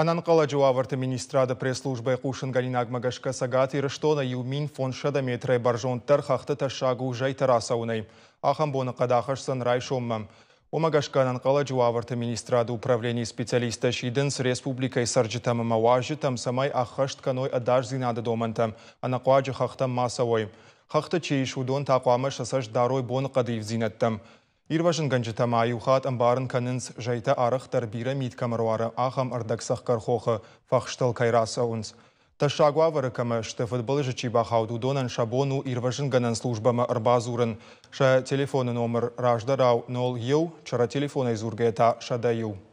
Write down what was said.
Ӕнӕнхъӕлӕджы уавӕрты министрады пресс-службӕйы хъусынгӕнинагмӕ гӕсгӕ Цӕгат Ирыстоны 1500 метрӕй бӕрзонддӕр хӕхты тӕссаг у зӕйтӕ рацӕуынӕй. Ахӕм боныхъӕд ахӕсдзӕн райсоммӕ. Уымӕ гӕсгӕ ӕнӕнхъӕлӕджы уавӕрты министрады управленийы специалисттӕ сидынц республикӕйы цӕрджытӕм ӕмӕ уазджытӕм, цӕмӕй ӕххӕст кӕной ӕдасдзинады домӕнтӕ, ӕнӕхъуаджы хӕхтӕм ма цӕуой. Хӕхты чи ис, уыдон та хъуамӕ сӕ цӕст дарой боныхъӕды ивддзинӕдтӕм. Ирвӕзынгӕнджытӕ ма иу хатт ӕмбарын кӕнынц, зӕйтӕ арӕхдӕр бирӕ мит кӕм ӕруары, ахӕм ӕрдӕгцӕхгӕр хохы фӕхстыл кӕй рацӕуынц. Тӕссаг уавӕры кӕмӕ сты, фыдбылызы чи бахауд, уыдонӕн сӕ бон у ирвӕзынгӕнӕн службӕмӕ ӕрбадзурын. Сӕ телефоны номыр раздӕрау 01, чырӕ телефонӕй дзургӕйӕ та 101.